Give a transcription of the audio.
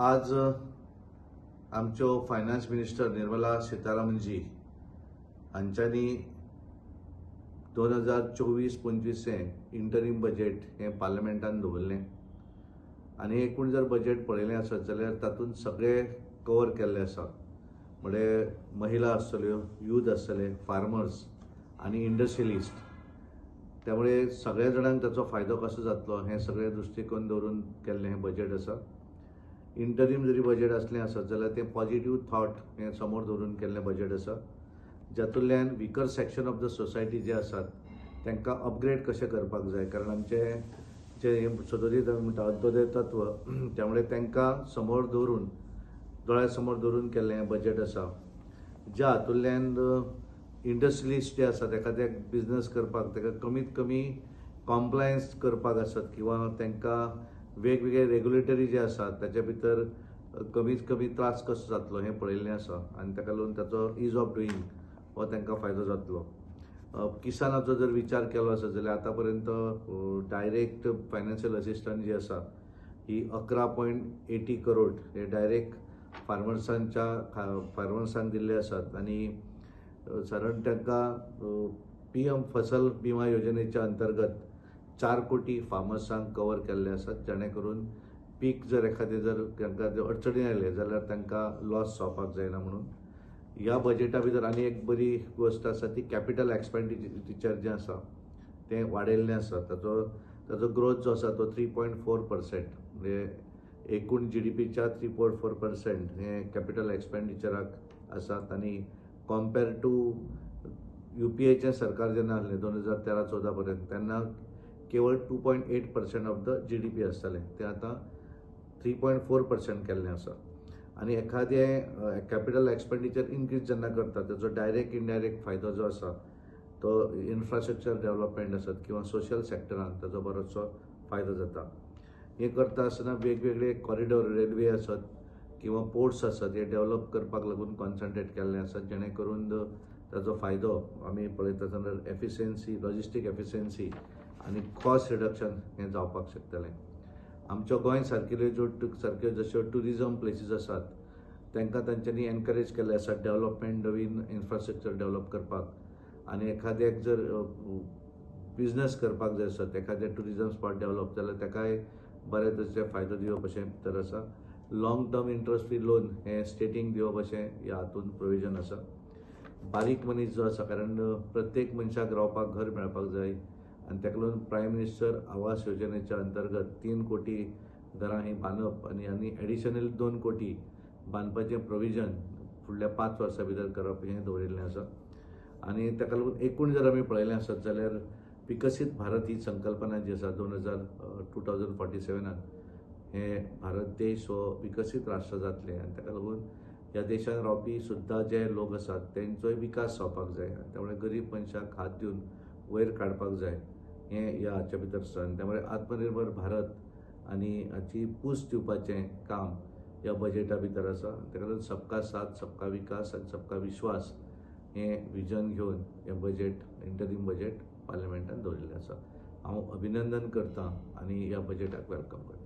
आज आमच्यो finance minister Nirmala सीतारामनजी हांच्यांनी 2024-25 इंटरीम बजेट हें पार्लमेंटान दवरलें आनी एकूण जर बजेट पळयलें आसत जाल्यार तातूंत सगळे कवर केल्ले आसा. म्हणजे महिला आसतल्यो, यूथ आसतले, फार्मर्स आनी इंडस्ट्रियलिस्ट. त्यामुळे सगळ्या जाणांक ताचो फायदो कसो जातलो हें सगळें दृश्टिकोन दवरून केल्लें हें बजेट आसा. इंटरीम जरी बजेट आसलें आसत जाल्यार तें पॉजिटीव थॉट हें समोर दवरून केल्लें बजेट आसा, जातूंतल्यान weaker section of the society जे आसात तांकां अपग्रेड कशें करपाक जाय, कारण आमचें जें सदोदीत आमी म्हणटा अंत्योदय तत्व, त्यामुळे तांकां समोर दवरून दोळ्या समोर दवरून केल्लें हें बजेट आसा, ज्या हातूंतल्यान इंडस्ट्रियलिस्ट जे आसात एखाद्याक बिजनस करपाक ताका कमीत कमी कॉम्प्लायन्स करपाक आसत किंवा तांकां वेगवेगळे रेग्युलेटरी जे आसात ताच्या भितर कमीत कमी त्रास कसो जातलो हें पळयल्लें आसा आनी ताका लागून ताचो is of doing हो तांकां फायदो जातलो. किसानाचो जर विचार केलो आसत जाल्यार आतां पर्यंत डायरेक्ट फायनान्शियल असिस्टंट जी आसा ही 11.80 करोड हे डायरेक्ट फार्मर्सांक दिल्ले आसात आनी सादारण तांकां PM फसल बिमा योजनेच्या अंतर्गत 4 कोटी फार्मर्सांक कवर केल्ले आसात, जेणे करून पीक जर एखादें जर तांकां अडचणी आयले जाल्यार तांकां लॉस जावपाक जायना म्हणून. ह्या बजेटा भितर आनी एक बरी गोश्ट आसा ती कॅपिटल एक्सपेंडिचर जें आसा तें वाडयल्लें आसा. ताचो ग्रोथ जो आसा तो 3.4%, म्हणजे एकूण GDPच्या 3.4% हें कॅपिटल एक्सपेंडिचराक आसात. आनी कॉम्पेर टू UPAचें सरकार जेन्ना आसलें 2013-14 पर्यंत तेन्ना केवळ 2.8% ऑफ the GDP आसतालें, तें आतां 3.4% केल्लें आसा. आनी एखादें कॅपिटल एक्सपेंडिचर इन्क्रीज जेन्ना करता ताचो डायरेक्ट इनडायरेक्ट फायदो जो आसा तो इन्फ्रास्ट्रक्चर डेव्हलपमेंट आसत किंवा सोशल सेक्टरान ताचो बरोचसो फायदो जाता. हें करता आसतना वेगवेगळे कॉरिडोर रेल्वे आसत किंवा पोर्ट्स आसत हे डेव्हलप करपाक लागून कॉन्सन्ट्रेट केल्लें आसा, जेणे करून ताचो फायदो आमी पळयता आसतना एफिशियन्सी, लॉजिस्टीक एफिशियन्सी आनी कॉस्ट रिडक्शन हें जावपाक शकतलें. आमच्या गोंय सारकिल्ल्यो ज्यो सारक्यो जश्यो ट्युरिजम प्लेसीस आसात तांकां तांच्यांनी एनकरेज केल्लें आसा डेव्हलपमेंट, नवीन इन्फ्रास्ट्रक्चर डेव्हलप करपाक. आनी एखाद्याक जर बिजनस करपाक जाय आसत, एखाद्या ट्युरिजम स्पॉट डेव्हलप जाल्यार ताकाय बरे तरेचे फायदो दिवप अशें भितर आसा. Long term interest free loan हें स्टेटींक दिवप अशें ह्या हातूंत प्रोविजन आसा. बारीक मनीस जो आसा, कारण प्रत्येक मनशाक रावपाक घर मेळपाक जाय आनी ताका लागून प्रायम मिनिस्टर आवास योजनेच्या अंतर्गत 3 कोटी घरां ही बांदप आनी एडिशनल 2 कोटी बांदपाचें प्रोविजन फुडल्या 5 वर्सां भितर करप हें दवरिल्लें आसा. आनी ताका लागून एकूण जर आमी पळयलें आसत जाल्यार विकसीत भारत ही संकल्पना जी आसा 2047 हे भारत देश हो विकसीत राष्ट्र जातलें आनी ताका लागून ह्या देशान रावपी सुद्दां जे लोक आसात तेंचोय विकास जावपाक जाय आनी त्यामुळे गरीब मनशाक हात दिवन वयर काडपाक जाय हें ह्या हाच्या भितर आसा. आनी त्यामुळे आत्मनिर्भर भारत आनी हाची पूस दिवपाचें काम ह्या बजेटा भितर आसा. ताका लागून सबका साथ, सबका विकास आनी सबका विश्वास हें विजन घेवन हें बजेट, इंटरीम बजेट पार्लमेंटान दवरिल्लें आसा. हांव अभिनंदन करतां आनी ह्या बजेटाक welcome करतां.